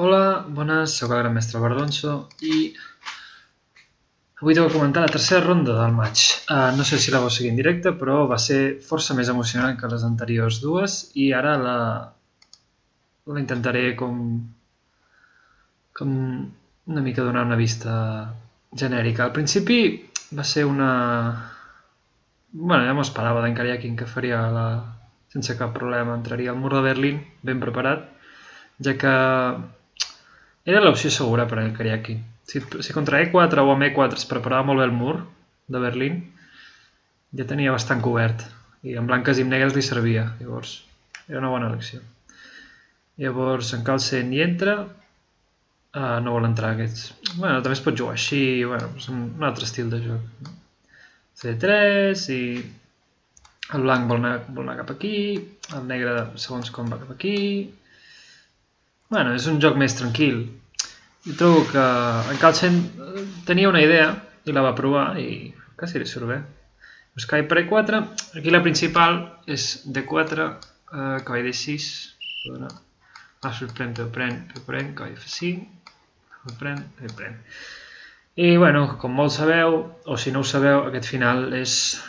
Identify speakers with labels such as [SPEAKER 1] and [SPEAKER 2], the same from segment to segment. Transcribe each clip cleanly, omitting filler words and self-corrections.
[SPEAKER 1] Hola, bones, sóc el gran mestre Bardonso i avui t'ho comentar la tercera ronda del maig. No sé si la vau seguir en directe, però va ser força més emocionant que les anteriors dues i ara la intentaré com una mica donar una vista genèrica. Al principi va ser una... Bueno, ja m'ho esperava d'en Karyakin que faria sense cap problema, entraria al mur de Berlín ben preparat, ja que era l'opció segura per al Karyakin. Si contra E4 o amb E4 es preparava molt bé el mur de Berlín, ja tenia bastant cobert. I amb blanques i amb negres li servia. Llavors, era una bona elecció. Llavors, en Carlsen hi entra. No vol entrar aquests. Bueno, també es pot jugar així. Bueno, és un altre estil de joc. C3 i el blanc vol anar cap aquí. El negre, segons com, va cap aquí. Bueno, és un joc més tranquil. Jo trobo que en Carlsen tenia una idea i la va provar i quasi li surt bé. Buscar per E4, aquí la principal és D4, cavall D6, alfil pren, cavall F5, pren. I bueno, com molts sabeu, o si no ho sabeu, aquest final és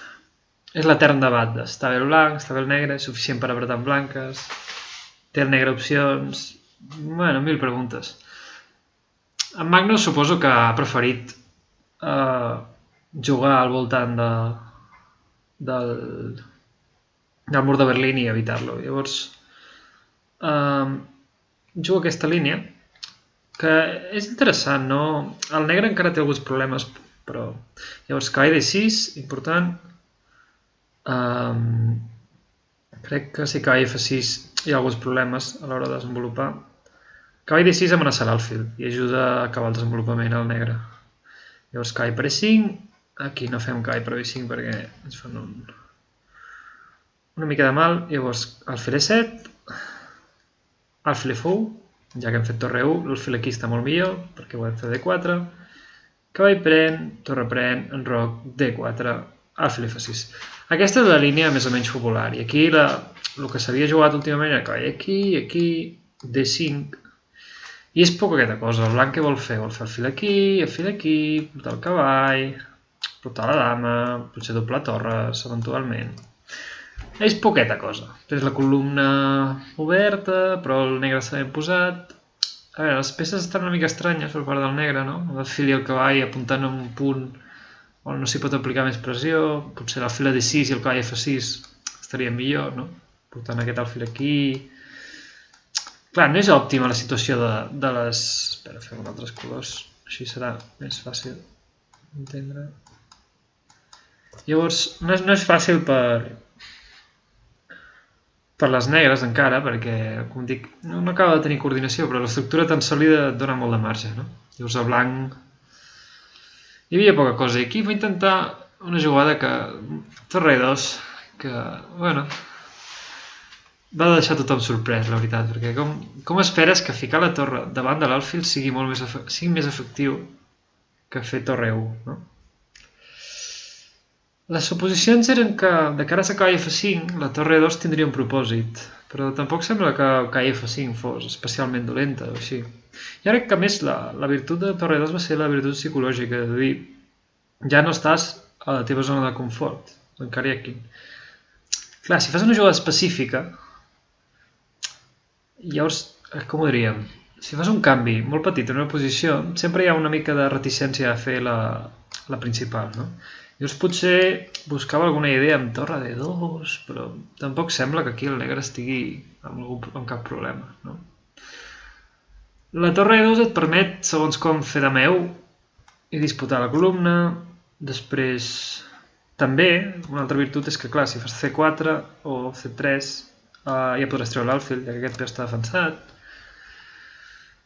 [SPEAKER 1] l'etern debat. Està bé el blanc, està bé el negre, és suficient per apretar amb blanques, té el negre opcions... Bueno, mil preguntes. En Magnus suposo que ha preferit jugar al voltant del mur de Berlín i evitar-lo. Llavors, juga aquesta línia, que és interessant, no? El negre encara té alguns problemes, però... Llavors, cavall D6, important. Crec que si cavall F6 hi ha alguns problemes a l'hora de desenvolupar. Cavall D6 amenaça l'alfil i ajuda a acabar el desenvolupament al negre. Llavors cavall per E5, aquí no fem cavall per E5 perquè ens fan una mica de mal. Llavors alfil E7, alfil F1, ja que hem fet torre 1, l'alfil aquí està molt millor perquè podem fer D4, cavall pren, torre pren, enroc, D4, alfil F6. Aquesta és la línia més o menys popular i aquí el que s'havia jugat últimament era cavall aquí, D5, i és poca aquesta cosa. El blanc què vol fer? Vol fer alfil aquí, portar el cavall, portar la dama, potser doble torres, eventualment. És poqueta cosa. És la columna oberta, però el negre està ben posat. A veure, les peces estan una mica estranyes per part del negre, no? L'alfil i el cavall apuntant a un punt on no s'hi pot aplicar més pressió. Potser l'alfil D6 i el cavall F6 estarien millor, no? Portant aquest alfil aquí... Clar, no és òptima la situació de les... Espera, fem altres colors, així serà més fàcil d'entendre. Llavors, no és fàcil per les negres encara, perquè, com dic, no acaba de tenir coordinació, però l'estructura tan sòlida et dona molt de marge, no? Llavors el blanc... Hi havia poca cosa, i aquí va intentar una jugada que... Torre 2, que, bueno... Va deixar tothom sorprès, la veritat, perquè com esperes que ficar la torre davant de l'alfil sigui més efectiu que fer torre 1, no? Les suposicions eren que de cara a cavall F5 la torre 2 tindria un propòsit, però tampoc sembla que cavall F5 fos especialment dolenta o així. I ara que a més la virtut de torre 2 va ser la virtut psicològica, és a dir, ja no estàs a la teva zona de confort, en Karyakin. Clar, si fas una jugada específica, llavors, com ho diríem? Si fas un canvi molt petit en una posició, sempre hi ha una mica de reticència a fer la principal, no? Llavors potser buscava alguna idea amb torre D2, però tampoc sembla que aquí el negre estigui amb cap problema, no? La torre D2 et permet, segons com, fer dameu i disputar la columna. Després, també, una altra virtut és que, clar, si fas C4 o C3, ja podràs treure l'alfil, ja que aquest peu està defensat.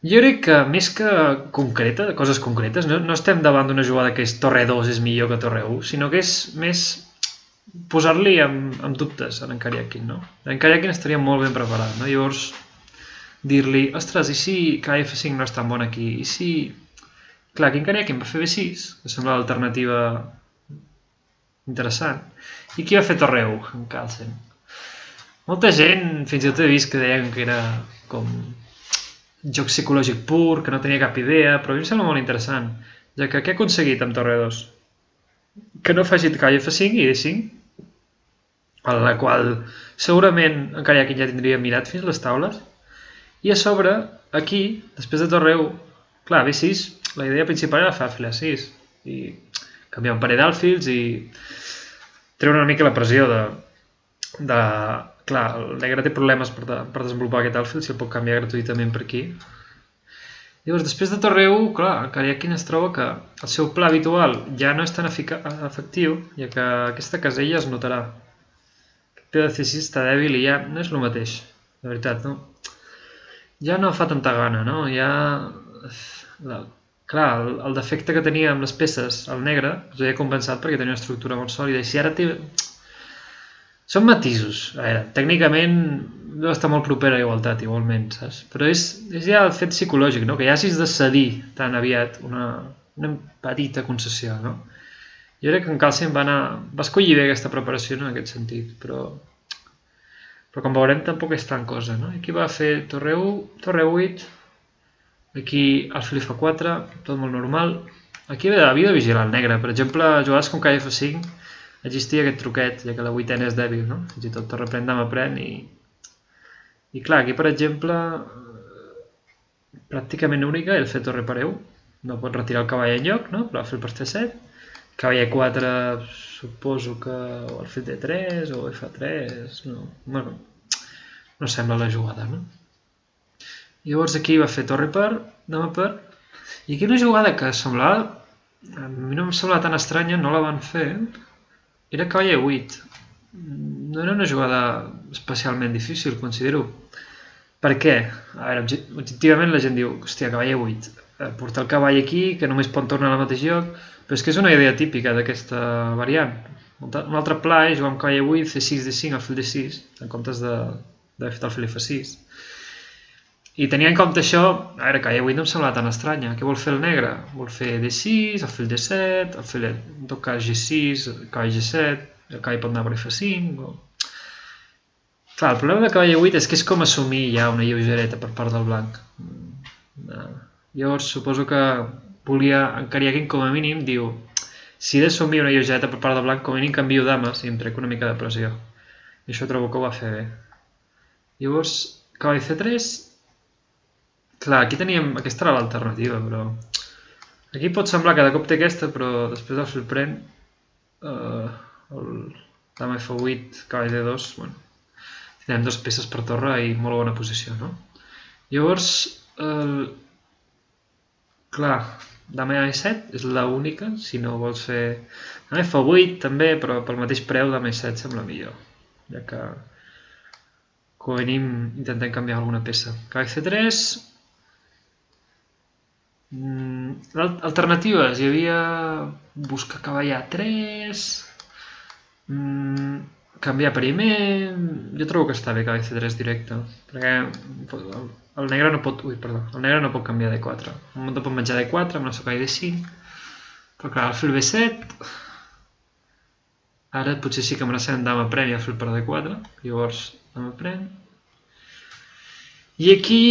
[SPEAKER 1] Jo crec que més que concreta, coses concretes, no estem davant d'una jugada que és torre 2 és millor que torre 1, sinó que és més posar-li amb dubtes a en Karyakin, no? En Karyakin estaria molt ben preparat, no? Llavors, dir-li, ostres, i si cavall F5 no és tan bon aquí? I si... Clar, aquí en Karyakin va fer B6, que sembla l'alternativa interessant, i qui va fer torre 1? En Carlsen. Molta gent, fins i tot he vist que deien que era com joc psicològic pur, que no tenia cap idea, però a mi em sembla molt interessant, ja que què he aconseguit amb torre 2? Que no faci cavall F5 i D5, a la qual segurament encara hi ha qui ja tindria mirat fins les taules, i a sobre, aquí, després de torre 1, clar, B6, la idea principal era fer alfil A6, i canviar un parell d'alfils i treure una mica la pressió de... Clar, el negre té problemes per desenvolupar aquest alfil, si el pot canviar gratuïtament per aquí. Llavors, després de torre 1, clar, encara hi ha qui es troba que el seu pla habitual ja no és tan efectiu, ja que aquesta casella es notarà. El peu de C6 està dèbil i ja no és el mateix, de veritat, no? Ja no fa tanta gana, no? Ja... Clar, el defecte que tenia amb les peces, el negre, us havia compensat perquè tenia una estructura molt sòlida, i si ara té... Són matisos. A veure, tècnicament deu estar molt propera a igualtat, igualment, saps? Però és ja el fet psicològic, no? Que ja hagis de cedir tan aviat una petita concessió, no? Jo crec que en Carlsen va escollir bé aquesta preparació en aquest sentit, però com veurem tampoc és tan cosa, no? Aquí va fer torre 1, torre 8, aquí alfil F4, tot molt normal. Aquí havia de vigilar el negre, per exemple, jugades com cavall F5, existia aquest truquet, ja que la vuitena és dèbil, no? Fins i tot torre pren, dama pren i clar, aquí per exemple pràcticament única el fer torre per E1, no pot retirar el cavall enlloc, no? Però alfil per C7, cavall E4 suposo que o alfil D3 o F3, no, bueno, no sembla la jugada, no? Llavors aquí va fer torre per, dama per, i aquí una jugada que semblava, a mi no em semblava tan estranya, no la van fer, era cavall E8. No era una jugada especialment difícil, considero. Per què? A veure, objectivament la gent diu, hòstia, cavall E8. Portar el cavall aquí, que només pot tornar al mateix lloc, però és que és una idea típica d'aquesta variant. Un altre pla és jugar amb cavall E8, C6, D5, alfil D6, en comptes d'haver fet alfil F6. I tenint en compte això, a veure, cavall E8 no em semblava tan estranya. Què vol fer el negre? Vol fer D6, alfil D7, alfil, en tot cas G6, cavall G7, el cavall pot anar per F5... Clar, el problema de cavall E8 és que és com assumir ja una lleugereta per part del blanc. Llavors, suposo que volia encarir aquí com a mínim, diu, si he d'assumir una lleugereta per part del blanc, com a mínim canvio dames i em trec una mica de pressió. I això trobo que ho va fer bé. Llavors, cavall C3... Clar, aquí teníem... Aquesta era l'alternativa, però... Aquí pot semblar que de cop té aquesta, però després el fil pren... Dama F8, cavall D2... Bueno, tindrem dues peces per torre i molt bona posició, no? Llavors... Clar, dama E7 és l'única, si no vols fer... Dama F8 també, però pel mateix preu dama E7 sembla millor, ja que... Com a mínim intentem canviar alguna peça. Cavall C3... Alternatives, hi havia buscar cavall A3, canviar primer, jo trobo que està bé cavall C3 directe, perquè el negre no pot, el negre no pot canviar D4, el monta pot menjar D4 amb el seu cavall D5, però clar, alfil B7, ara potser sí que amenacem dama pren i alfil per D4, llavors dama pren, i aquí...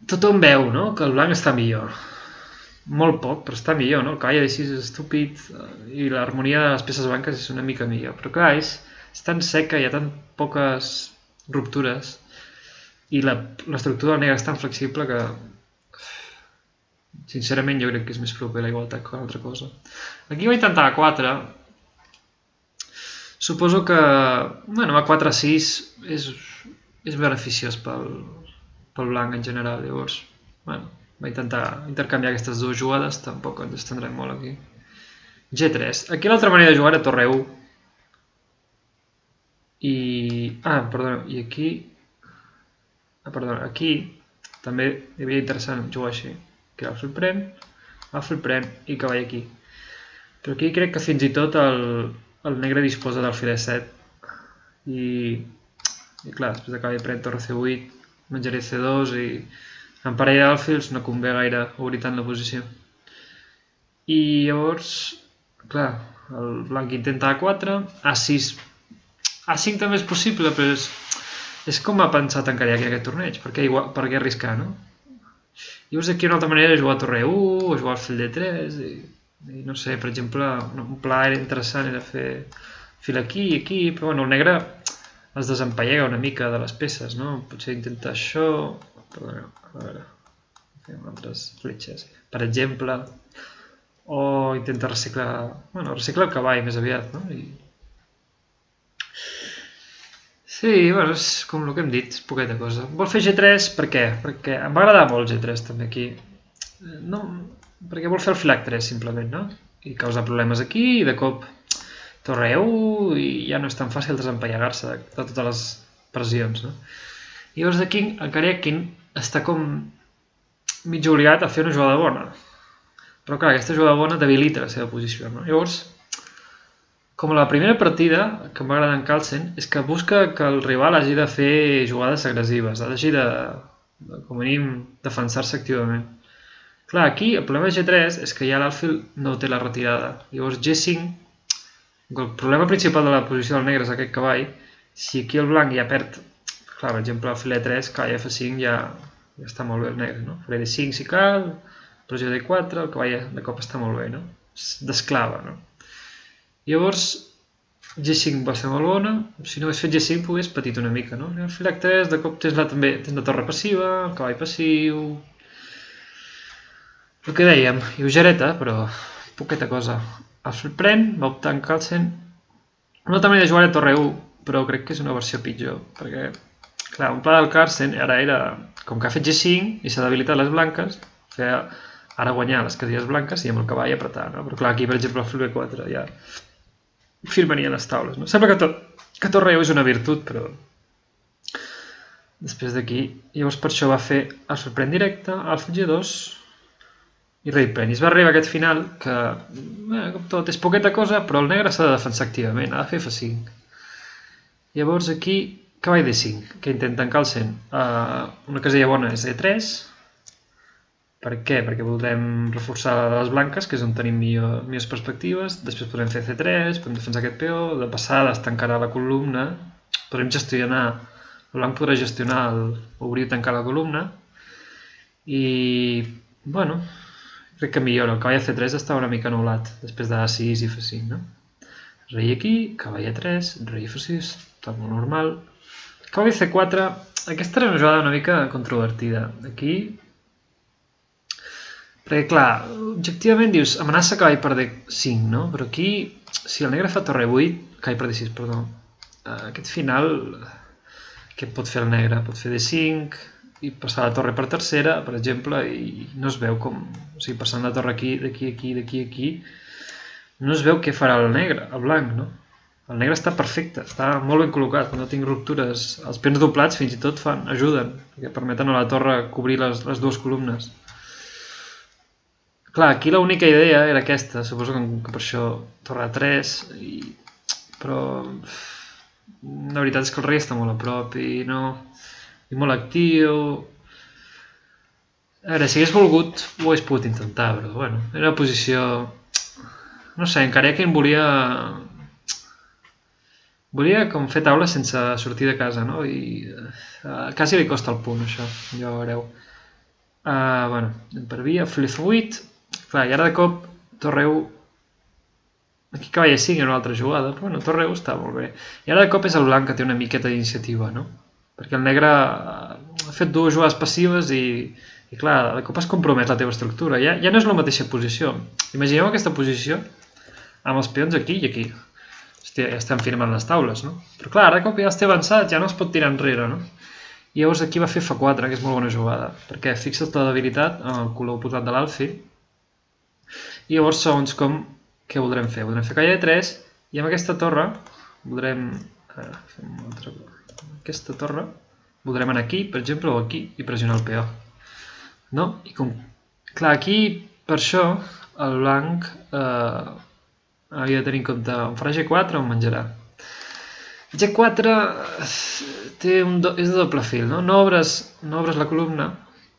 [SPEAKER 1] Tothom veu, no?, que el blanc està millor. Molt poc, però està millor, no? El cavall D6 és estúpid i l'harmonia de les peces blanques és una mica millor. Però clar, és tan seca, hi ha tan poques ruptures i l'estructura del negre és tan flexible que sincerament jo crec que és més proper a la igualtat que una altra cosa. Aquí vaig intentar A4. Suposo que, bueno, A4-6 és beneficiós pel blanc en general, llavors, bueno, va intentar intercanviar aquestes dues jugades, tampoc ens estendrem molt aquí. G3. Aquí l'altra manera de jugar era torre 1. I... perdona, i aquí... perdona, aquí també hi havia interessant jugar així, que alfil pren i cavall aquí. Però aquí crec que fins i tot el negre disposa d'alfil E7 i clar, després de cavall pren torre C8 menjaré C2 i en parell d'alfils no convé gaire obrir tant la posició. I llavors, clar, el blanc intenta A4, A6. A5 també és possible, però És com ha pensat en Kariaki aquest torneig, per què arriscar, no? Llavors aquí una altra manera és jugar a torre 1, o jugar al fill D3, i no sé, per exemple, un pla interessant era fer fil aquí i aquí, però bueno, el negre es desempallega una mica de les peces, no? Potser intenta això, perdoneu, a veure, fem altres fletxes, per exemple, o intenta reciclar, bueno, reciclar el cavall més aviat, no? Sí, bueno, és com el que hem dit, és poqueta cosa. Vol fer G3, per què? Perquè em va agradar molt G3 també aquí. No, perquè vol fer el fil H3 simplement, no? I causar problemes aquí i de cop torre 1 i ja no és tan fàcil desempallegar-se de totes les pressions, no? I llavors aquí el Kariakin està com mig obligat a fer una jugada bona. Però clar, aquesta jugada bona debilita la seva posició, no? Llavors, com a la primera partida, que em va agradar en Carlsen, és que busca que el rival hagi de fer jugades agressives, hagi de com a mínim, defensar-se activament. Clar, aquí el problema de G3 és que ja l'alfil no té la retirada. Llavors G5, el problema principal de la posició del negre és aquest cavall. Si aquí el blanc ja perd, clar, per exemple, el fil E3, cavall F5 ja està molt bé el negre, no? Fil D5 si cal, pressió D4, el cavall de cop està molt bé, no? D'esclava, no? Llavors, G5 va ser molt bona, si no hagués fet G5 hagués patit una mica, no? El fil H3, de cop tens la torre passiva, el cavall passiu... El que dèiem, lleugereta, però poqueta cosa. El fil pren, va optar en Carlsen. Una altra manera de jugar a torre 1, però crec que és una versió pitjor, perquè, clar, un pla del Carlsen ara era, com que ha fet G5 i s'ha debilitat les blanques, feia ara guanyar les casilles blanques i amb el cavall apretar, no? Però clar, aquí, per exemple, el fil B4 ja firmania les taules, no? Sembla que torre 1 és una virtut, però després d'aquí, llavors per això va fer el sorprèn directe, alfa G2 i rei pren. I es va arribar a aquest final que, com tot, és poqueta cosa, però el negre s'ha de defensar activament, ha de fer F5. Llavors aquí, cavall D5, que intenta en Carlsen. Una casella bona és E3. Per què? Perquè voldrem reforçar les blanques, que és on tenim millors perspectives. Després podem fer C3, podem defensar aquest peó, de passada es tancarà la columna. Podrem gestionar, el blanc podrà gestionar obrir i tancar la columna. I, bueno, crec que millora. El cavall C3 està una mica anul·lat, després de A6 i F5, no? Rei aquí, cavall A3, rei F6, tot molt normal. Cavall C4, aquesta era una jugada una mica controvertida. Aquí... Perquè, clar, objectivament dius, amenaça cavall per D5, no? Però aquí, si el negre fa torre 8, cavall per D6, perdó, aquest final, què pot fer el negre? Pot fer D5 i passar la torre per tercera, per exemple, i no es veu com... O sigui, passant la torre aquí, d'aquí, aquí, d'aquí, aquí, no es veu què farà el negre, el blanc, no? El negre està perfecte, està molt ben col·locat, no tinc ruptures. Els peons doblats fins i tot ajuden, perquè permeten a la torre cobrir les dues columnes. Clar, aquí l'única idea era aquesta, suposo que per això torre a 3, però la veritat és que el rei està molt a prop i molt actiu. A veure, si hagués volgut ho hagués pogut intentar, però bueno, era una posició... No sé, encara que em volia com fer taula sense sortir de casa, no? I quasi li costa el punt, això, ja ho veureu. Bueno, per via, fil F8... Clar, i ara de cop, torre 1, aquí cavall E5 era una altra jugada, però bueno, torre 1 està molt bé. I ara de cop és el blanc que té una miqueta d'iniciativa, no? Perquè el negre ha fet dues jugades passives i clar, de cop has compromès la teva estructura. Ja no és la mateixa posició. Imagineu aquesta posició amb els peons aquí i aquí. Hòstia, ja estem firmant les taules, no? Però clar, ara de cop ja està avançat, ja no es pot tirar enrere, no? I llavors aquí va fer F4, que és molt bona jugada, perquè fixes la debilitat en el color oposat de l'alfil. I llavors, segons com, què voldrem fer? Voldrem fer cavall E3 i amb aquesta torre voldrem... Aquesta torre voldrem anar aquí, per exemple, o aquí i pressionar el peó. No? I com... Clar, aquí, per això, el blanc havia de tenir en compte on farà G4 o on menjarà. G4 és de doble fil, no? No obres la columna,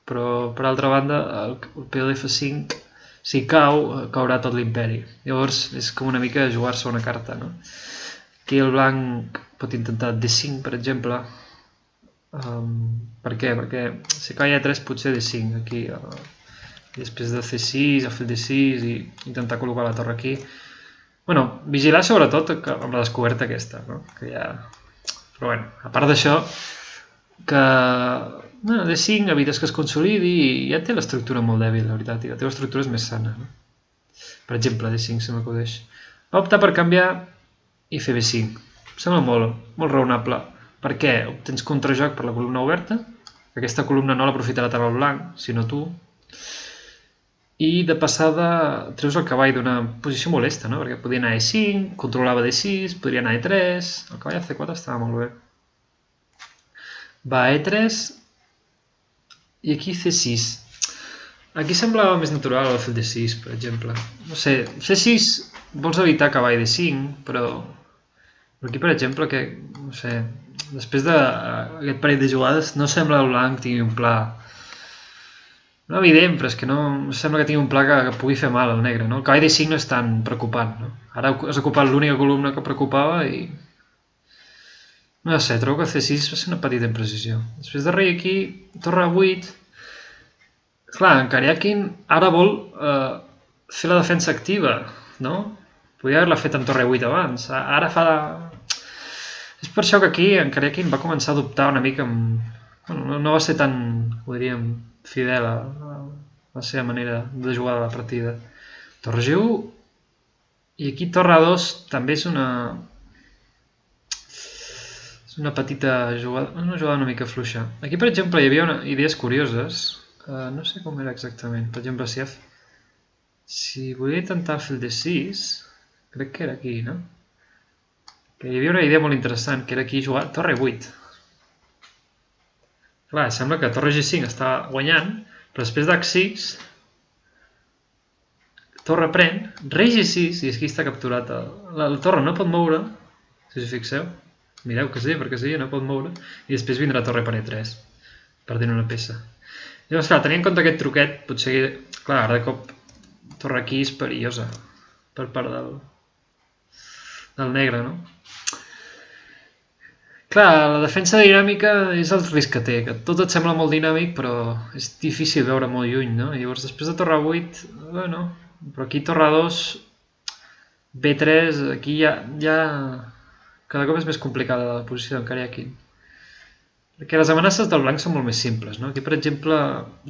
[SPEAKER 1] però per altra banda el peó d'F5 si cau, caurà tot l'imperi. Llavors és com una mica jugar-se una carta, no? Aquí el blanc pot intentar D5, per exemple, Per què? Perquè si cau E3 potser D5 aquí, i després de C6, el fill D6 i intentar col·locar la torre aquí. Bueno, vigilar sobretot amb la descoberta aquesta, no? Que ja... Però bueno, a part d'això, que bueno, D5 evites que es consolidi i ja té l'estructura molt dèbil, la veritat, i la teva estructura és més sana, no? Per exemple, D5 se m'acudeix. Va optar per canviar i fer B5. Em sembla molt raonable. Per què? Obtens contrajoc per la columna oberta. Aquesta columna no l'aprofitarà tant el blanc, sinó tu. I de passada treus el cavall d'una posició molesta, no? Perquè podia anar a E5, controlava D6, podria anar a E3... El cavall a C4 estava molt bé. Va a E3 i aquí C6. Aquí semblava més natural el fill D6, per exemple. No sé, C6 vols evitar cavall D5, però aquí, per exemple, que, no sé, després d'aquest parell de jugades no sembla el blanc tingui un pla... No evident, però és que no sembla que tingui un pla que pugui fer mal al negre, no? El cavall D5 no és tan preocupant, no? Ara has ocupat l'única columna que preocupava i... No sé, trobo que C6 va ser una petita imprecisió. Després de rei aquí, torre A8... Clar, en Karyakin ara vol fer la defensa activa, no? Podria haver-la fet amb torre A8 abans. Ara fa... És per això que aquí en Karyakin va començar a dubtar una mica amb... Bueno, no va ser tan, ho diríem, fidel a la seva manera de jugar de la partida. Torre G1 i aquí torre A2 també és una petita jugada, una jugada una mica fluixa. Aquí, per exemple, hi havia idees curioses. No sé com era exactament. Per exemple, si volia intentar fer el D6, crec que era aquí, no? Que hi havia una idea molt interessant, que era aquí jugar torre 8. Clar, sembla que torre G5 està guanyant, però després d'H6, torre pren, rei G6, i aquí està capturat. La torre no pot moure, si us fixeu. Mireu que sí, perquè sí, no pot moure. I després vindrà torre per E3, perdent una peça. Llavors, clar, tenint en compte aquest truquet, potser, clar, ara de cop torre aquí és perillosa per part del negre, no? Clar, la defensa dinàmica és el risc que té, que tot et sembla molt dinàmic, però és difícil veure molt lluny, no? I llavors, després de torre 8, bueno, però aquí torre 2, B3, aquí ja cada cop és més complicada la posició d'en Karyakin. Perquè les amenaces del blanc són molt més simples, no? Aquí, per exemple,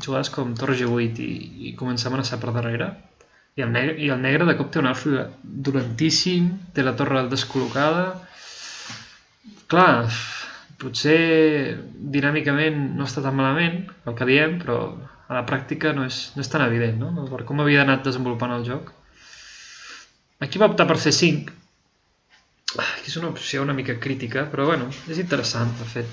[SPEAKER 1] jugades com torre G8 i començar a amenaçar per darrere, i el negre de cop té un alfil dolentíssim, té la torre descol·locada. Clar, potser dinàmicament no està tan malament el que diem, però a la pràctica no és tan evident, no? Per com havia anat desenvolupant el joc. Aquí va optar per C5. Aquí és una opció una mica crítica, però bueno, és interessant, de fet.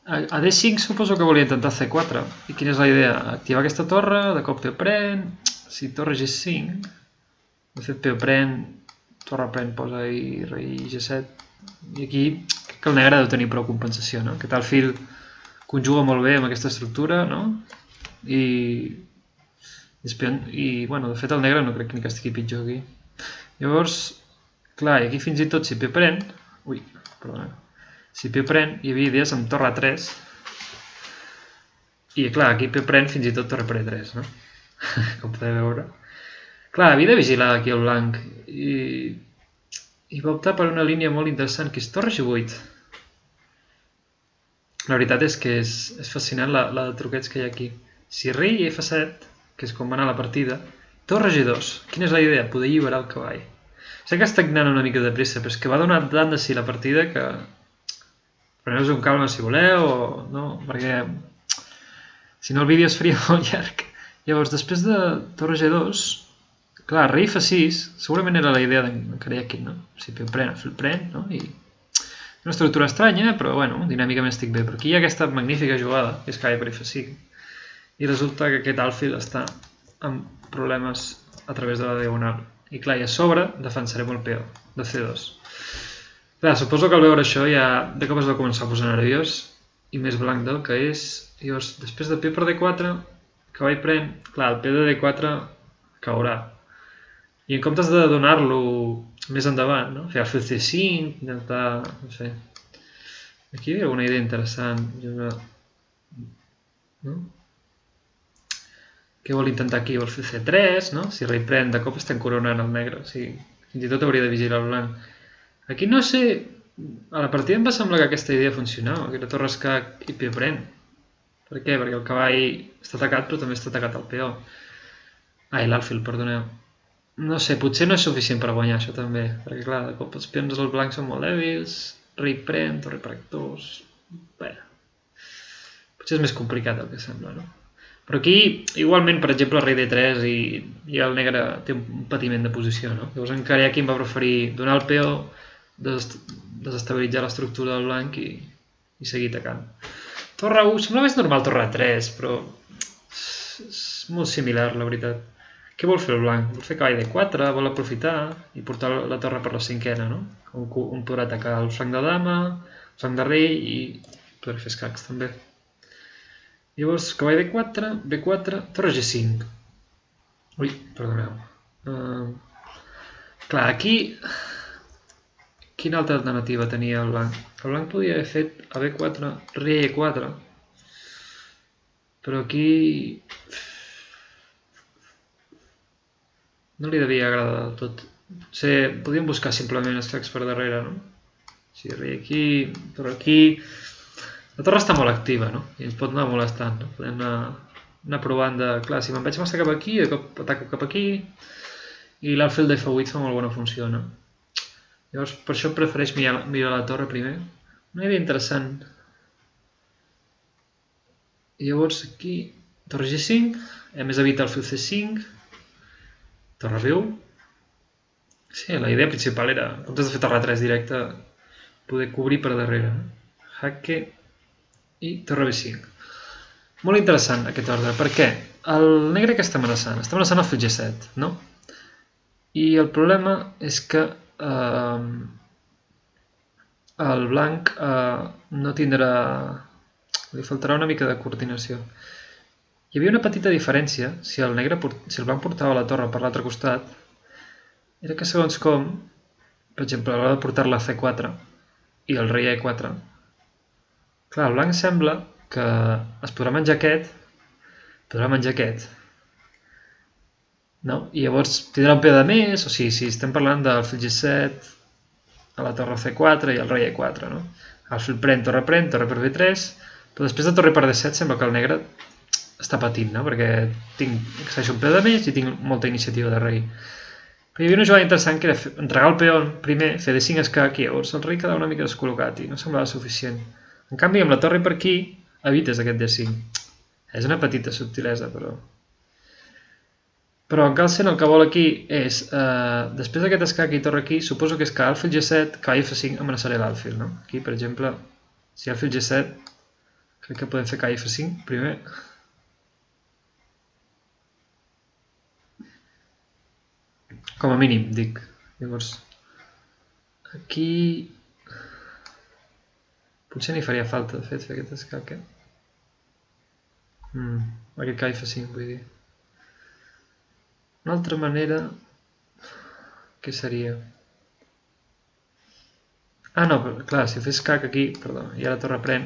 [SPEAKER 1] A D5 suposo que volia intentar C4. I quina és la idea? Activar aquesta torre, de cop P pren, si torre G5, de fet P pren, torre pren, posa ahí rei G7, i aquí crec que el negre deu tenir prou compensació, no? Aquest alfil conjuga molt bé amb aquesta estructura, no? I bueno, de fet el negre no crec ni que estigui pitjor aquí. Llavors, clar, i aquí fins i tot si P pren, si P pren, hi havia idees amb torre A3, i clar, aquí P pren fins i tot torre per E3, no? Com podeu veure. Clar, havia de vigilar aquí el blanc, i va optar per una línia molt interessant, que és torre G8. La veritat és que és fascinant la de truquets que hi ha aquí. Si rei i F7, que és com va anar la partida, torre G2. Quina és la idea? Poder alliberar el cavall. Sé que està anant una mica de pressa, però és que va donar tant de si la partida que... Preneu-vos un calma si voleu, o no, perquè si no el vídeo es faria molt llarg. Llavors, després de torre G2, clar, rei F6, segurament era la idea d'en Karyakin, no? Si P pren, el pren, no? I una estructura estranya, però bueno, dinàmicament estic bé. Però aquí hi ha aquesta magnífica jugada, que és cavall per F5, i resulta que aquest alfil està amb problemes a través de la diagonal. I clar, i a sobre defensarem el peó de C2. Clar, suposo que al veure això ja de cop es va començar a posar nerviós i més blanc del que és. Llavors, després de P per D4, cavall pren, clar, el P de D4 caurà. I en comptes de donar-lo més endavant, no? Fer alfil C5, intentar, no sé, Aquí hi havia alguna idea interessant. No? Què vol intentar aquí? Vol fer C3, no? Si rei pren, de cop estem coronant el negre. O sigui, fins i tot hauria de vigilar el blanc. Aquí no sé... A la partida em va semblar que aquesta idea funcionava, que era torre escac i peó pren. Per què? Perquè el cavall està atacat, però també està atacat el peó. Ai, l'alfil, perdoneu. No sé, potser no és suficient per guanyar això també, perquè clar, de cop els peons dels blancs són molt dèbils, rei pren, torre per actors... Bé, potser és més complicat el que sembla, no? Però aquí, igualment, per exemple, el rei D3 i el negre té un patiment de posició, no? Llavors encara aquí em va preferir donar el peó, desestabilitzar l'estructura del blanc i seguir atacant. Torre 1, sembla més normal torre 3, però és molt similar, la veritat. Què vol fer el blanc? Vol fer cavall D4, vol aprofitar i portar la torre per la cinquena, no? On podrà atacar el flanc de dama, el flanc de rei i podrà fer escacs també. Llavors, cavall D4, B4, torre G5. Ui, perdoneu. Clar, aquí... Quina altra alternativa tenia el blanc? El blanc podia haver fet a B4, rei E4. Però aquí... No li devia agradar del tot. Potser podíem buscar simplement escacs per darrere, no? Si rei aquí, torre aquí... La torre està molt activa, no? I ens pot anar molestant, no? Podem anar provant de... Clar, si me'n vaig massa cap aquí, de cop ataco cap aquí, i l'alfil d'F8 fa molt bona funció, no? Llavors, per això prefereix mirar la torre primer. Una idea interessant. I llavors aquí, torre G5, a més evita alfil C5, torre B1. Sí, la idea principal era, en comptes de fer torre 3 directe, poder cobrir per darrere. Jaque i torre B5. Molt interessant aquest ordre. Per què? El negre que està amenaçant? Està amenaçant alfil G7, no? I el problema és que el blanc no tindrà... Li faltarà una mica de coordinació. Hi havia una petita diferència, si el blanc portava la torre per l'altre costat, era que segons com, per exemple, a l'hora de portar-la a C4 i el rei a E4, clar, el blanc sembla que es podrà menjar aquest, no? I llavors tindrà un peó de més, o sigui, si estem parlant d'alfil G7, a la torre C4 i el rei E4, no? Alfil pren, torre per B3, però després de torre per D7 sembla que el negre està patint, no? Perquè accedeixo un peó de més i tinc molta iniciativa de rei. Però hi havia una jugada interessant que era entregar el peó primer, fer D5 escac i llavors el rei quedava una mica descol·locat i no semblava suficient. En canvi, amb la torre per aquí, evites aquest D5. És una petita subtilesa, però... Però en Carlsen el que vol aquí és, després d'aquest escac i torre aquí, suposo que és que alfil G7, cavall F5 amenaçaré l'alfil, no? Aquí, per exemple, si alfil G7, crec que podem fer cavall F5 primer. Com a mínim, dic. Llavors, aquí... Potser n'hi faria falta, de fet, fer aquest escac, aquest cavall F5, vull dir. Una altra manera, què seria? Ah, no, clar, si fes escac aquí, perdó, i ara torre pren,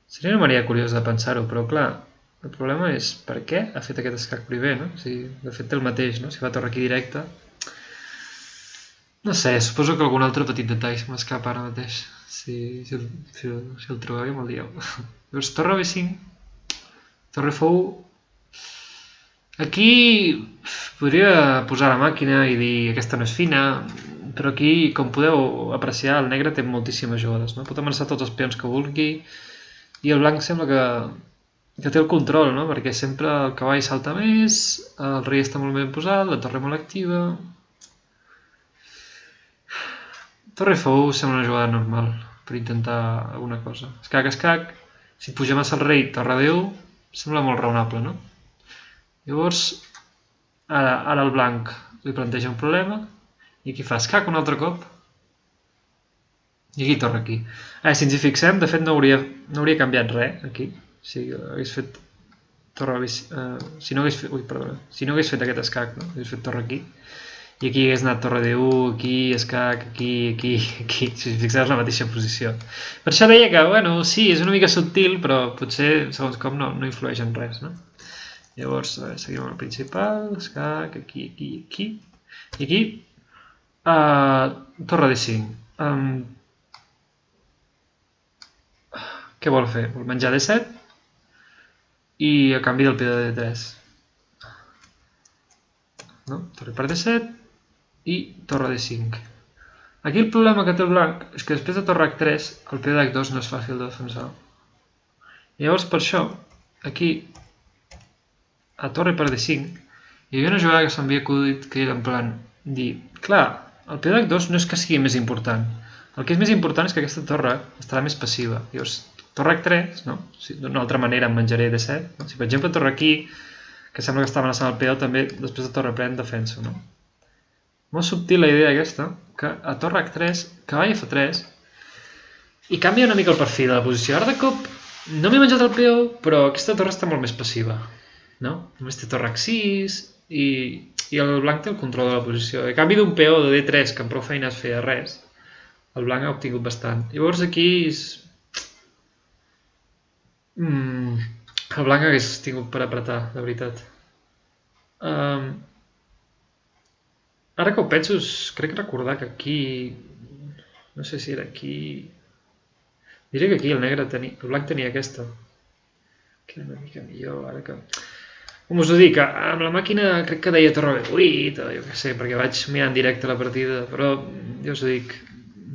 [SPEAKER 1] seria una manera curiosa de pensar-ho, però clar, el problema és per què ha fet aquest escac primer, no? O sigui, de fet té el mateix, no? Si va torre aquí directe... No sé, suposo que algun altre petit detall se m'escapa ara mateix. Si el trobeu, me'l dieu. Llavors, torre B5, torre F1... Aquí podria posar la màquina i dir aquesta no és fina, però aquí, com podeu apreciar, el negre té moltíssimes jugades, no? Pot amenaçar tots els peons que vulgui i el blanc sembla que té el control, no? Perquè sempre el cavall salta més, el rei està molt ben posat, la torre molt activa... Torre F1 sembla una jugada normal per intentar alguna cosa. Escac, si puja massa el rei, torre D1, sembla molt raonable, no? Llavors, ara el blanc li planteja un problema i aquí fa escac un altre cop i aquí torre aquí. Si ens hi fixem, de fet no hauria canviat res aquí. Si hagués fet torre... si no hagués fet aquest escac, no? Hagués fet torre aquí I aquí hagués anat torre D1, aquí, escac, aquí, si us fixeu la mateixa posició. Per això deia que, bueno, sí, és una mica subtil, però potser, segons com, no influeix en res, no? Llavors, seguim amb el principal, escac, aquí, aquí. I aquí, torre D5. Què vol fer? Vol menjar D7 i a canvi del peó de D3. No? Torre per D7 i torre D5. Aquí el problema que té el blanc és que després de torre H3 el peó d'H2 no és fàcil de defensar. Llavors per això, aquí, a torre per D5, hi havia una jugada que s'havia acudit que era en plan dir, clar, el peó d'H2 no és que sigui més important, el que és més important és que aquesta torre estarà més passiva. Llavors, torre H3, no? D'una altra manera em menjaré D7. No? Si per exemple torre aquí, que sembla que està amenaçant el peó, també després de torre pren defenso. No? Molt subtil la idea aquesta, que a torre H3, cavall F3, i canvia una mica el perfil de la posició. Ara de cop no m'he menjat el peó, però aquesta torre està molt més passiva. No? Només té torre H6 i el blanc té el control de la posició. A canvi d'un peó de D3 que amb prou feines feia res, el blanc ha obtingut bastant. Llavors aquí el blanc hagués tingut per apretar, de veritat. Ara que ho penso, crec recordar que aquí... No sé si era aquí... Diré que aquí el blanc tenia aquesta. Que era una mica millor, ara que... Com us ho dic, amb la màquina crec que deia torre B8, o jo què sé, perquè vaig mirar en directe la partida, però jo us ho dic,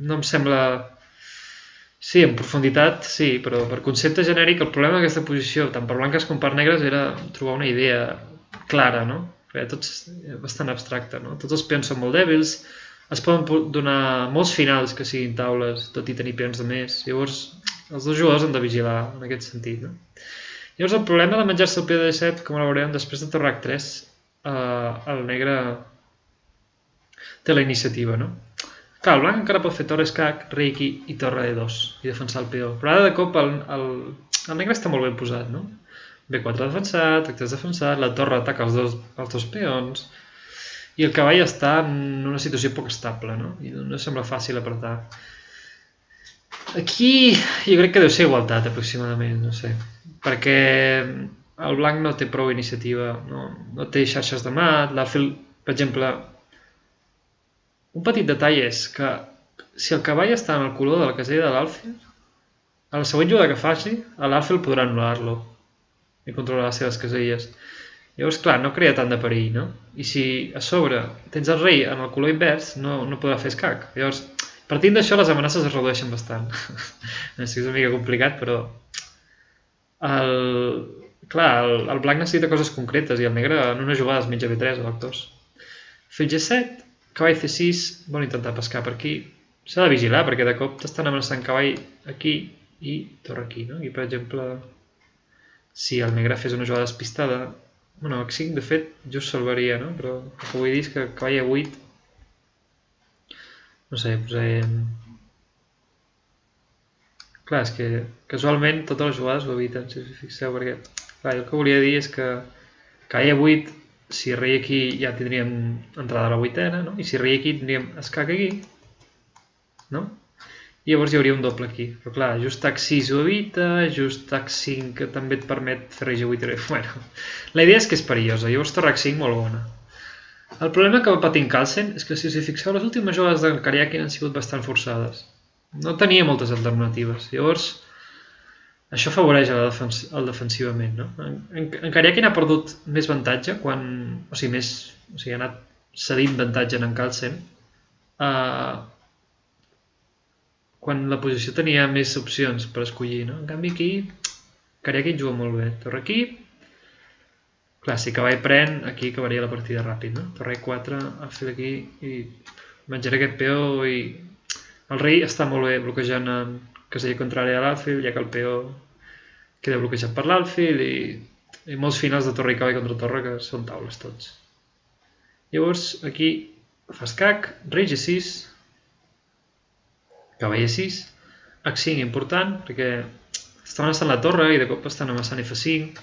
[SPEAKER 1] no em sembla... Sí, en profunditat, sí, però per concepte genèric el problema d'aquesta posició, tant per blanques com per negres, era trobar una idea clara, no? Perquè tot és bastant abstracte, no? Tots els peons són molt dèbils, es poden donar molts finals que siguin taules, tot i tenir peons de més, llavors els dos jugadors han de vigilar en aquest sentit, no? Llavors el problema de menjar-se el peó de D7, com ho veurem, després de torre H3, el negre té la iniciativa, no? Clar, el blanc encara pot fer torre escac, rei aquí i torre D2 i defensar el peó. Però ara de cop el negre està molt ben posat, no? B4 defensat, H3 defensat, la torre ataca els dos peons i el cavall està en una situació poc estable, no? I no sembla fàcil apretar. Aquí jo crec que deu ser igualtat aproximadament, no sé, perquè el blanc no té prou iniciativa, no té xarxes de mat, l'alfil, per exemple, un petit detall és que si el cavall està en el color de la casella de l'alfil, a la següent jugada que faci, l'alfil podrà anul·lar-lo i controlar les seves caselles. Llavors, clar, no crea tant de perill, no? I si a sobre tens el rei en el color invers, no podrà fer escac. Llavors, partint d'això, les amenaces es redueixen bastant. És una mica complicat, però... Clar, el blanc necessita coses concretes i el negre en una jugada es menja B3 o H2. Fil G7, cavall C6, vol intentar pescar per aquí. S'ha de vigilar perquè de cop t'estan amenaçant cavall aquí i torre aquí, no? Aquí, per exemple, si el negre fes una jugada despistada, bueno, H5 de fet just salvaria, no? Però el que vull dir és que cavall A8, no sé, posem... Clar, és que casualment totes les jugades ho eviten, si us fixeu, perquè clar, el que volia dir és que cavall A8, si rei aquí ja tindríem entrada a la vuitena, no? I si rei aquí tindríem escac aquí, no? I llavors hi hauria un doble aquí. Però clar, just H6 ho evita, just H5 que també et permet fer rei G8 i rei... Bueno, la idea és que és perillosa, llavors torre H5 molt bona. El problema que va patint Carlsen és que si us hi fixeu, les últimes jugades d'en Karyakin han sigut bastant forçades. No tenia moltes alternatives. Llavors, això afavoreix el defensivament, no? En Karyakin ha perdut més avantatge quan... O sigui, ha anat cedint avantatge en Carlsen quan la posició tenia més opcions per escollir, no? En canvi aquí, Karyakin juga molt bé. Torre aquí... Clar, si cavall pren, aquí acabaria la partida ràpid, no? Torre E4, alfil aquí i menjaré aquest peó i... El rei està molt bé bloquejant en casella contrària a l'alfil, ja que el peó queda bloquejat per l'alfil i molts finals de torre i cavall contra torre que són taules tots. Llavors, aquí fa escac, rei G6, cavall E6, H5 important, perquè està amenaçant la torre i de cop estan amenaçant F5.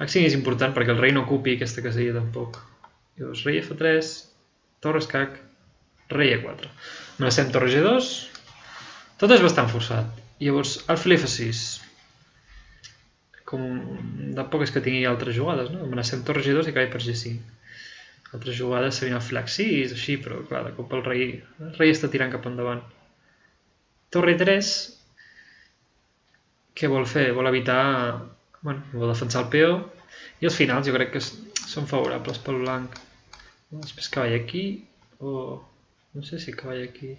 [SPEAKER 1] H5 és important perquè el rei no ocupi aquesta casella tampoc. Llavors, rei F3, torre escac, rei E4. Amenacem torre G2, tot és bastant forçat. Llavors, alfil F6. Com tampoc és que tingui altres jugades, no? Amenacem torre G2 i cavall per G5. Altres jugades serien alfil H6, així, però clar, de cop el rei està tirant cap endavant. Torre 3, què vol fer? Vol evitar, bueno, vol defensar el peó, i els finals jo crec que són favorables pel blanc. Després cavall aquí, o no sé si cavall aquí.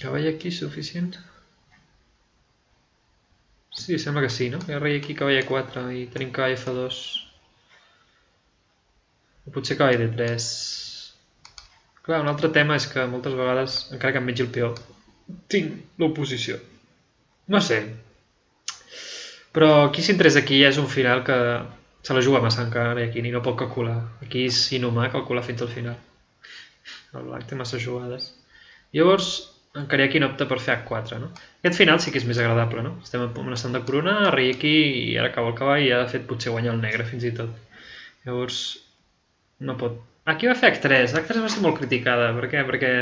[SPEAKER 1] Cavall aquí és suficient? Sí, sembla que sí, no? Hi ha rei aquí, cavall E4 i tenim cavall F2. O potser cavall D3. Clar, un altre tema és que moltes vegades, encara que em mengi el peó, tinc l'oposició. No sé. Però qui s'interessa aquí és un final que se la juga massa encara i aquí ni no pot calcular. Aquí és inhumà calcular fins al final. El blanc té massa jugades. Llavors, en Kariakin opta per fer H4, no? Aquest final sí que és més agradable, no? Estem amenaçant de coronar, rei aquí i ara cau el cavall i ha de fet potser guanyar el negre fins i tot. Llavors, no pot. Aquí va fer H3. H3 va ser molt criticada. Per què? Perquè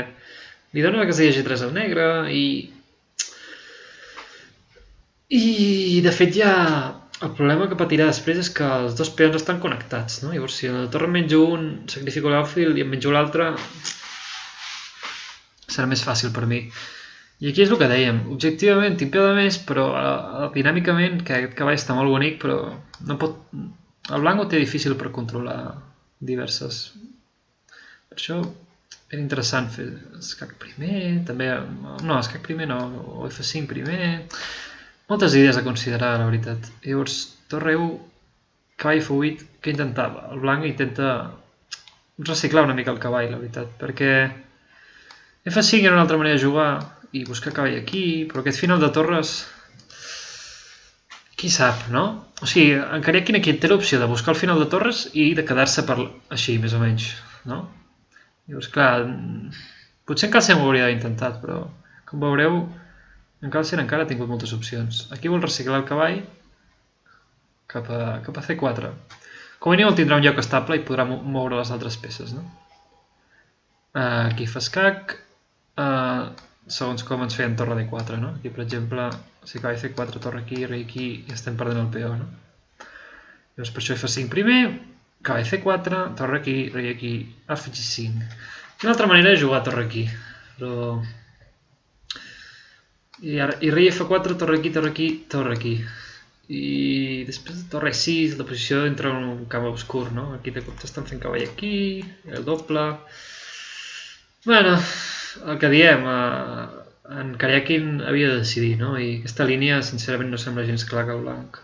[SPEAKER 1] li dona la casella G3 al negre i de fet ja el problema que patirà després és que els dos peons estan connectats, no? Llavors, si a la torre em menjo un, sacrifico l'alfil i em menjo l'altre, serà més fàcil per mi. I aquí és el que dèiem, objectivament tinc peu de més, però dinàmicament, que aquest cavall està molt bonic, però no pot... El blanc ho té difícil per controlar diverses. Per això era interessant fer escac primer, també... No, escac primer no, o F5 primer... Moltes idees a considerar, la veritat. Llavors, torre E1, cavall F8, què intentava? El blanc intenta reciclar una mica el cavall, la veritat, perquè F5 era una altra manera de jugar i buscar cavall aquí, però aquest final de torres... Qui sap, no? O sigui, en Kariakin aquí té l'opció de buscar el final de torres i de quedar-se per així, més o menys, no? Llavors, clar, potser en Carlsen ho hauria d'haver intentat, però com veureu, en Carlsen encara ha tingut moltes opcions. Aquí vol reciclar el cavall cap a C4. Com a mínim el tindrà un lloc estable i podrà moure les altres peces, no? Aquí fa escac, segons com ens feien torre D4, no? Aquí, per exemple, si cavall C4, torre aquí, rei aquí, i estem perdent el peó, no? Llavors, per això F5 primer, cavall C4, torre aquí, rei aquí, F5. Una altra manera de jugar torre aquí, però... I rei F4, torre aquí, torre aquí, torre aquí. I després torre 6, la posició entra en un camp obscur, no? Aquí de cop estan fent cavall aquí, el doble... Bueno, el que diem, en Kariakin havia de decidir, no? I aquesta línia, sincerament, no sembla gens clar que el blanc.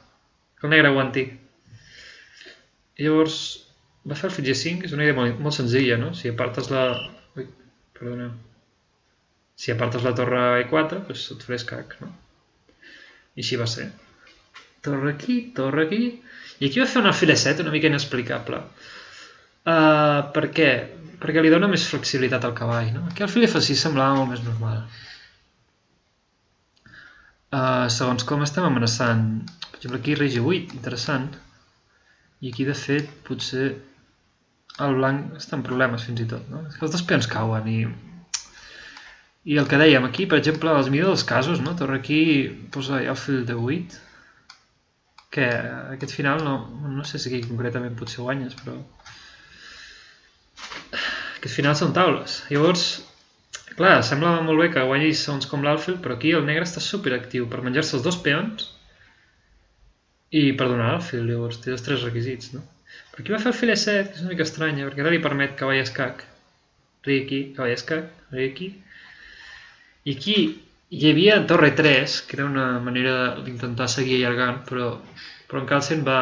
[SPEAKER 1] Que el negre aguanti. I llavors, va fer el fil G5, és una idea molt senzilla, no? Si apartes la... Ui, perdoneu. Si apartes la torre E4, doncs et faré escac, no? I així va ser. Torre aquí, i aquí va fer un alfil E7 una mica inexplicable. Per què? Perquè li dona més flexibilitat al cavall, no? Aquí el alfil F6 semblava molt més normal. Segons com estem amenaçant, per exemple aquí rei G8, interessant, i aquí de fet potser el blanc està en problemes fins i tot, no? És que els dos peons cauen i el que dèiem aquí, per exemple, als millors dels casos, no? Torre aquí, posa alfil D8, que aquest final no sé si aquí concretament potser guanyes, però aquests finals són taules. Llavors, clar, sembla molt bé que guanyis segons com l'alfil, però aquí el negre està superactiu per menjar-se els dos peons i per donar l'alfil, llavors té els tres requisits, no? Però aquí va fer alfil E7, que és una mica estranya, perquè ara li permet cavall escac, rei aquí, cavall escac, rei aquí. I aquí hi havia torre 3, que era una manera d'intentar seguir allargant, però en Carlsen va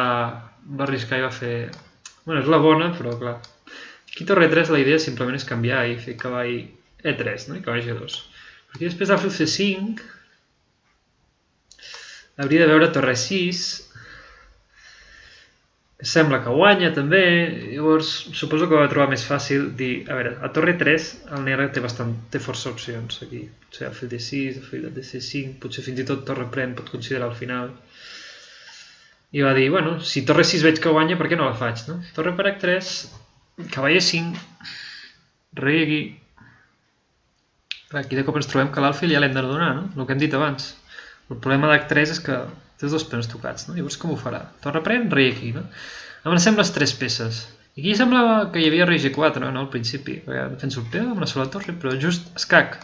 [SPEAKER 1] arriscar i va fer... Bueno, és la bona, però clar. Aquí torre 3 la idea simplement és canviar i fer cavall E3, no? I cavall G2. Però aquí després d'alfil C5 hauria de veure torre 6, que sembla que guanya també, llavors suposo que va trobar més fàcil dir, a veure, a torre 3 el negre té força opcions aquí, potser alfil D6, alfil D5, potser fins i tot torre pren pot considerar el final. I va dir, bueno, si torre 6 veig que guanya, per què no la faig, no? Torre per H3, cavall E5, rei aquí. Aquí de cop ens trobem que l'alfil ja l'hem de donar, no? El que hem dit abans. El problema d'H3 és que té els dos peons tocats, no? Llavors com ho farà? Torre pren, rei aquí, no? Avancem les 3 peces. I aquí semblava que hi havia rei G4, no? Al principi, perquè defenso el peó amb una sola torre, però just escac.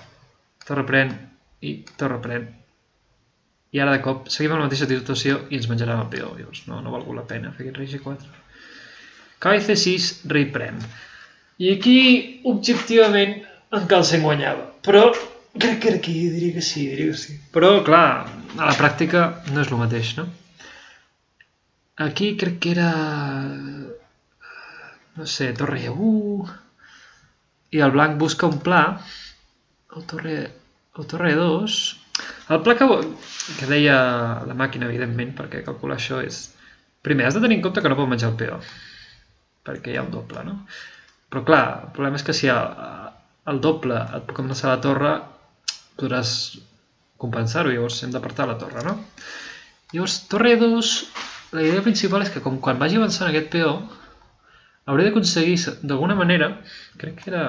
[SPEAKER 1] Torre pren i torre pren. I ara de cop seguim amb la mateixa situació i ens menjarem el peó. Llavors no ha valgut la pena fer aquest rei G4. Cavall C6, rei pren. I aquí, objectivament, en Carlsen guanyava. Però crec que era aquí, diria que sí. Però, clar, a la pràctica no és el mateix, no? Aquí crec que era... no sé, torre E1... I el blanc busca un pla. El torre E2... El pla que deia la màquina, evidentment, perquè calcular això és... Primer, has de tenir en compte que no pot menjar el peó, perquè hi ha un doble, no? Però clar, el problema és que si el doble et puc amenaçar la torre, podràs compensar-ho, llavors hem d'apartar la torre, no? Llavors, torre E2, la idea principal és que com quan vagi avançant aquest peó, hauré d'aconseguir, d'alguna manera, crec que era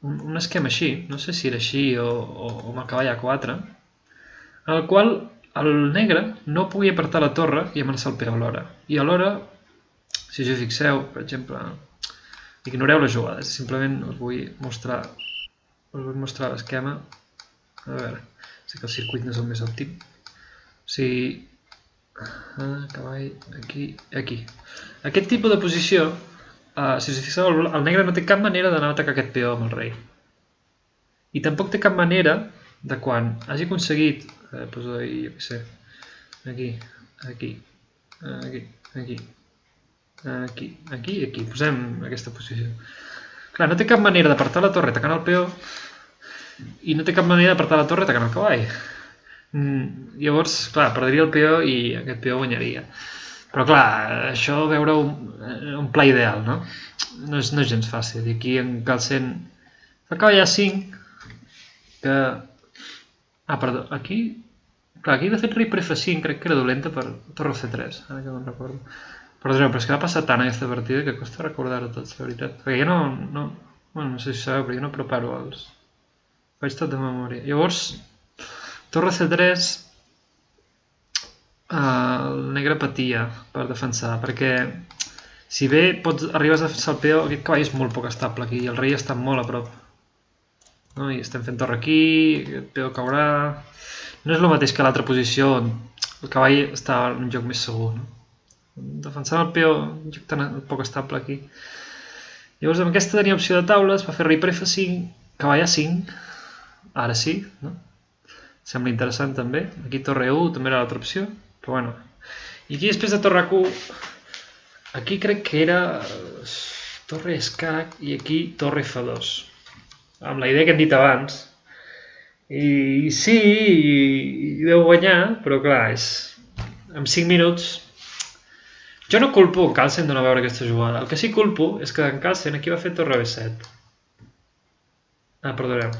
[SPEAKER 1] un esquema així, no sé si era així o amb el cavall A4, en el qual el negre no pugui apartar la torre i amenaçar el peó alhora. I alhora, si us hi fixeu, per exemple, ignoreu les jugades, simplement us vull mostrar l'esquema. A veure, sé que el circuit no és el més òptim. O sigui, cavall, aquí. Aquest tipus de posició, si us hi fixeu, el negre no té cap manera d'anar a atacar aquest peó amb el rei. I tampoc té cap manera de quan hagi aconseguit, poso jo què sé, aquí, posem aquesta posició. Clar, no té cap manera d'apartar la torre atacant el peó i no té cap manera d'apartar la torre atacant el cavall. Llavors, clar, perdria el peó i aquest peó guanyaria. Però clar, això veure un pla ideal, no? No és gens fàcil. I aquí en Carlsen fa cavall A5, que... perdó, aquí... Clar, aquí de fet rei per F5 crec que era dolenta per torre C3, ara que me'n recordo. Perdoneu, però és que va passar tant aquesta partida que costa recordar-ho tots, la veritat. Perquè jo bueno, no sé si sabeu, però jo no preparo els... Faig tot de memòria. Llavors, torre C3, el negre patia per defensar, perquè si bé arribes a defensar el peó, aquest cavall és molt poc estable aquí i el rei està molt a prop. No? I estem fent torre aquí, aquest peó caurà... No és el mateix que l'altra posició on el cavall està en un lloc més segur, no? Defensant el peó, un lloc tan poc estable aquí. Llavors amb aquesta tenia opció de taules, va fer rei per F5, cavall A5, ara sí, no? Sembla interessant també. Aquí torre E1 també era l'altra opció, però bueno. I aquí després de torre Q, aquí crec que era torre escac i aquí torre F2. Amb la idea que hem dit abans. I sí, deu guanyar, però clar, en 5 minuts... Jo no culpo en Carlsen de no veure aquesta jugada. El que sí culpo és que en Carlsen aquí va fer torre B7. Perdoneu.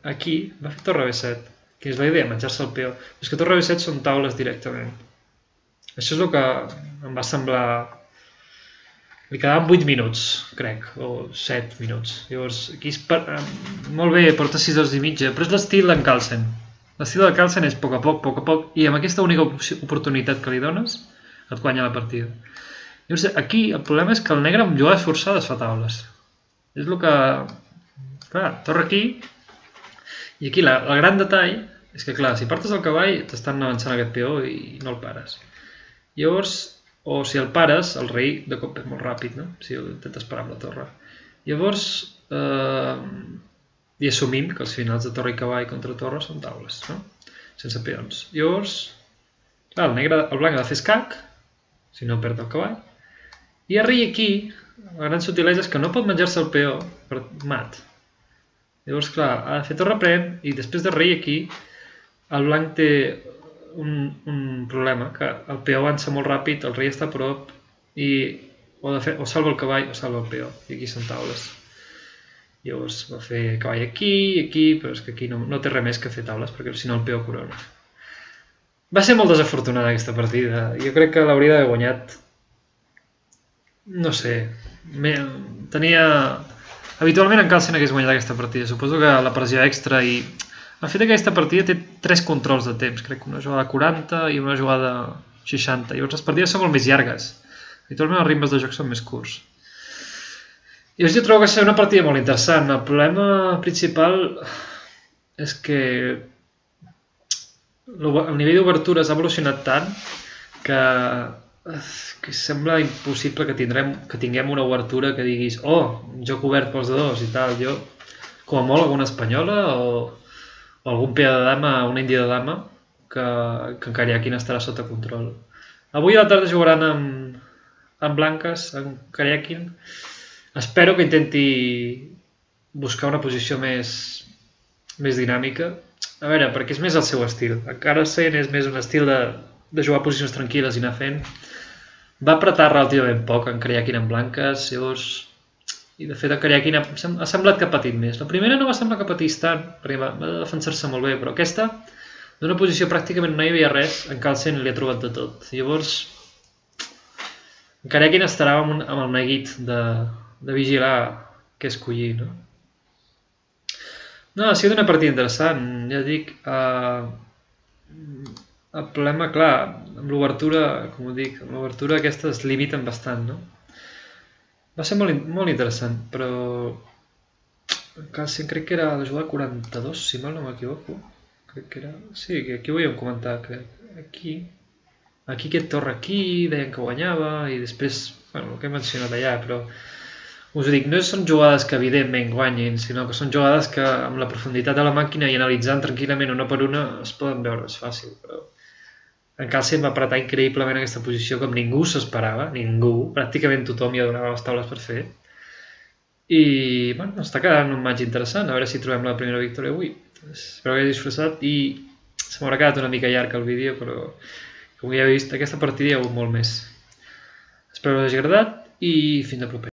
[SPEAKER 1] Aquí va fer torre B7, que és la idea, menjar-se el peó. És que torre B7 són taules directament. Això és el que em va semblar... Li quedaven 8 minuts, crec, o 7 minuts. Llavors, aquí molt bé, porta 6 hores i mitja, però és l'estil d'en Carlsen. L'estil de Carlsen és a poc, i amb aquesta única oportunitat que li dones, et guanya la partida. Llavors, aquí el problema és que el negre amb jugades forçades fa taules. És el que... Clar, torre aquí, i aquí el gran detall és que, clar, si partes el cavall, t'estan avançant aquest peó i no el pares. Llavors... O si el pares, el rei de cop és molt ràpid, no? Si intentes parar amb la torre. Llavors, i assumim que els finals de torre i cavall contra torre són taules, no? Sense peons. Llavors, clar, el blanc ha de fer escac, si no perd el cavall. I el rei aquí, la gran sutilesa és que no pot menjar-se el peó per mat. Llavors, clar, ha de fer torre pren i després de rei aquí, el blanc té un problema, que el peó avança molt ràpid, el rei està a prop i o salva el cavall o salva el peó, i aquí són taules. Llavors va fer cavall aquí, però és que aquí no té res més que fer taules, perquè si no el peó corona. Va ser molt desafortunada aquesta partida. Jo crec que l'hauria d'haver guanyat. No sé. Tenia... Habitualment en Carlsen hagués guanyat aquesta partida. Suposo que la pressió extra i... El fet que aquesta partida té 3 controls de temps. Crec que una jugada 40 i una jugada 60. Llavors les partides són molt més llargues. Habitualment els ritmes de joc són més curts. I jo trobo que serà una partida molt interessant. El problema principal és que el nivell d'obertura s'ha evolucionat tant que sembla impossible que tinguem una obertura que diguis joc obert pels de dos i tal. Jo, com a molt, alguna espanyola o algun peó de dama, una índia de dama, que en Karyakin estarà sota control. Avui a la tarda jugaran amb blanques, amb Karyakin. Espero que intenti buscar una posició més dinàmica. A veure, perquè és més el seu estil. Encara Sen és més un estil de jugar a posicions tranquil·les i anar fent. Va apretar relativament poc en Karyakin en blanques, llavors... I de fet en Karyakin ha semblat que ha patit més. La primera no va semblar que patís tant, perquè va defensar-se molt bé, però aquesta, d'una posició pràcticament no hi havia res, en Carlsen li ha trobat de tot. Llavors, en Karyakin estarà amb el neguit de vigilar què escollir, no? No, ha sigut una partida interessant, ja dic. El problema, clar, amb l'obertura, com ho dic, amb l'obertura aquesta es limiten bastant, no? Va ser molt interessant, però Carlsen crec que era la jugada 42, si mal no m'equivoco. Crec que era... Sí, que aquí ho havíem comentat, crec. Aquí aquest torre aquí, deien que guanyava, i després, bueno, el que he mencionat allà, però us ho dic, no són jugades que evidentment guanyin, sinó que són jugades que amb la profunditat de la màquina i analitzant tranquil·lament una per una es poden veure, és fàcil, però... En Carlsen va apretar increïblement aquesta posició com ningú s'esperava, ningú, pràcticament tothom ja donava les taules per fer. I, bueno, està quedant un match interessant, a veure si trobem la primera victòria avui. Espero que hagi disfrutat i se m'haurà quedat una mica llarg el vídeo, però com ja he vist, aquesta partida hi ha hagut molt més. Espero que us hagi agradat i fins a proper.